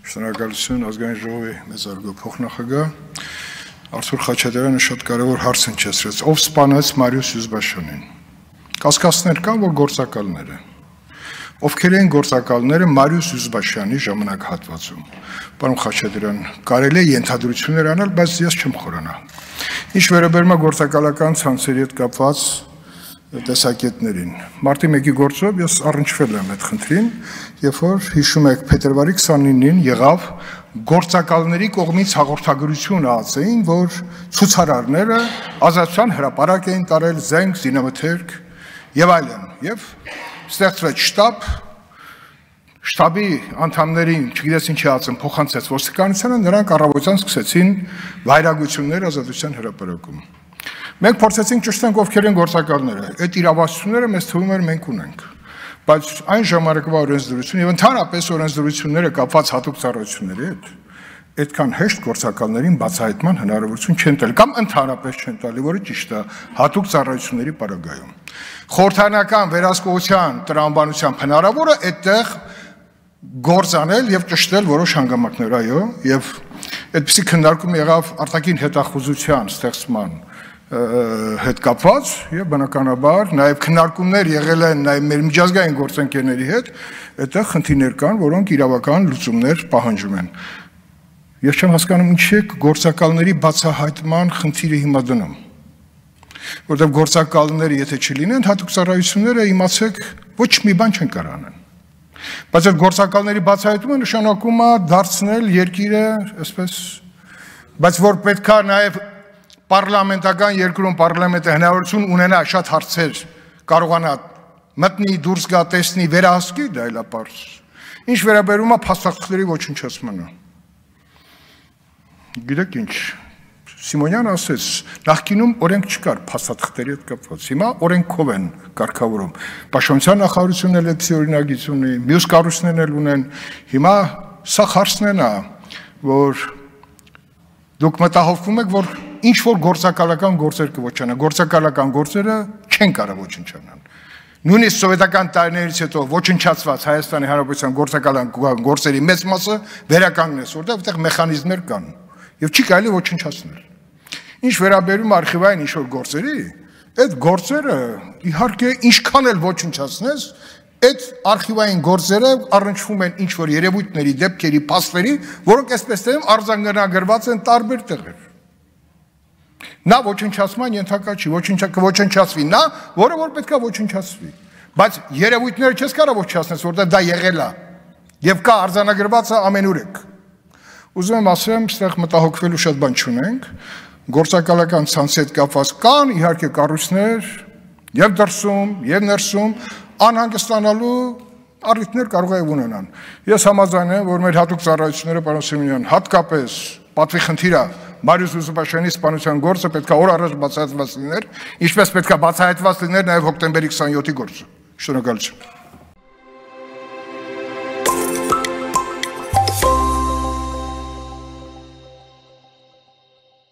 Շնորհակալություն ազգային ժողովի մեծարգո փոխնախագահ Արթուր Խաչատրյանը շատ կարևոր հարց հնչեցրեց. ով սպանեց Մարիուս Յուզբաշյանին։ Կասկածներ կան, որ գործակալները։ Ովքեր են գործակալները Մարիուս Յուզբաշյանի ժամանակահատվածում։ Պարոն Խաչատրյան, կարելի է ենթադրություններ անել, բայց ես չեմ խորանա։ Ինչ վերաբերում է գործակալական ցանցերի հետ կապված տեսակետներին։ Մարտի 1-ի գործով ես առնչվել եմ այդ խնդրին, երբ որ հիշում եք փետրվարի 29-ին եղավ գործակալների կողմից հաղորդագրություն ածեին, որ ցուցարարները ազատության հրապարակ էին տարել զենք, զինամթերք եւ այլն, եւ ստեղծվեց շտաբի անդամներին, չգիտես ինչի ածեն, փոխանցեց ոստիկանությանը, նրանք առավոտյան սկսեցին վայրագություններ ազատության հրապարակում։ Մենք փորձեցինք ճշտենք ովքեր են գործակալները, այդ իրավասությունները մեզ թվում էր մենք ունենք, բայց այն ժամանակվա օրենսդրություն եւ ընդհանրապես օրենսդրությունները կապված հատուկ ծառայությունների հետ այդքան հեշտ գործակալներին բացահայտման հնարավորություն չեն տալի կամ ընդհանրապես չեն տալի, որը ճիշտ է հատուկ ծառայությունների պարագայում։ Խորհրդանական վերահսկողության տրամաբանությամբ հնարավոր է այդտեղ գործ անել եւ ճշտել որոշ հանգամանքներ, այո, եւ այդպիսի քննարկում եղավ արտաքին հետախուզության ստեղծման հետ կապված եւ բնականաբար նաեւ քննարկումներ եղել են նաեւ մեր միջազգային գործընկերների հետ, այդտեղ խնդիրներ կան, որոնք իրավական լուծումներ պահանջում են։ Ես չեմ հասկանում ինչի է գործակալների բացահայտման խնդիրը հիմա դնում։ Որտեղ գործակալները եթե չլինեն, հատուկ ծառայությունները իմացեք ոչ մի բան չեն կարող անել։ Բայց այդ գործակալների բացահայտումը նշանակում է դարձնել երկիրը, այսպես, բայց որ պետքա նաեւ Պարլամենտական երկրում պարլամենտը հնարավորություն ունենա շատ հարցեր կարողանա մտնի, դուրս գա, տեսնի, վերահսկի, դա էլ է պարզ։ Ինչ վերաբերում է փաստաթղթերի ոչնչացմանը։ Գիտեք ինչ, Սիմոնյանը ասեց, նախկինում օրենք չկար փաստաթղթերի հետ կապված, հիմա օրենքով են կարգավորում։ Պաշտպանության նախարարությունն էլ էդի օրինագիծ ունի, մյուս կառույցներն էլ ունեն։ Հիմա սա հարցն է, որ դուք մտահոգվում եք, որ ինչ որ գործակալական գործեր կոչանան, գործակալական գործերը չեն կարող ոչնչանալ։ Նույնիսկ սովետական տարիներից հետո ոչնչացված Հայաստանի Հանրապետության գործակալական գործերի մեծ մասը վերականգնեց, որտեղ մեխանիզմներ կան եւ չի կարելի ոչնչացնել։ Ինչ վերաբերում արխիվային ինչ որ գործերի, այդ գործերը իհարկե ինչքան էլ ոչնչացնես, այդ արխիվային գործերը առնչվում են ինչ որ երևույթների, դեպքերի, փաստերի, որոնք այսպես թե արձանագրված են տարբեր տեղեր։ Նա ոչնչացման ենթակա չի, ոչնչացվի նա, որը որ պետքա ոչնչացվի։ Բայց երևույթները չես կարող ոչնչացնել, որտեղ դա եղել է եւ կա արձանագրված է ամենուրեք։ Ուզում եմ ասեմ, այստեղ մտահոգվելու շատ բան չունենք, գործակալական ցանցի հետ կապված կան իհարկե կառույցներ եւ դրսում եւ ներսում անհանգստանալու առիթներ կարող է ունենան։ Ես համաձայն եմ, որ մեր հատուկ ծառայությունները, պարոն Սիմոնյան, հատկապես պատվի խնդիրը Մարիուս Յուզբաշյանի սպանության գործը պետքա օր առաջ բացահայտված լիներ, ինչպես պետքա բացահայտված լիներ նաև հոկտեմբերի 27-ի գործը։ Շնորհակալություն։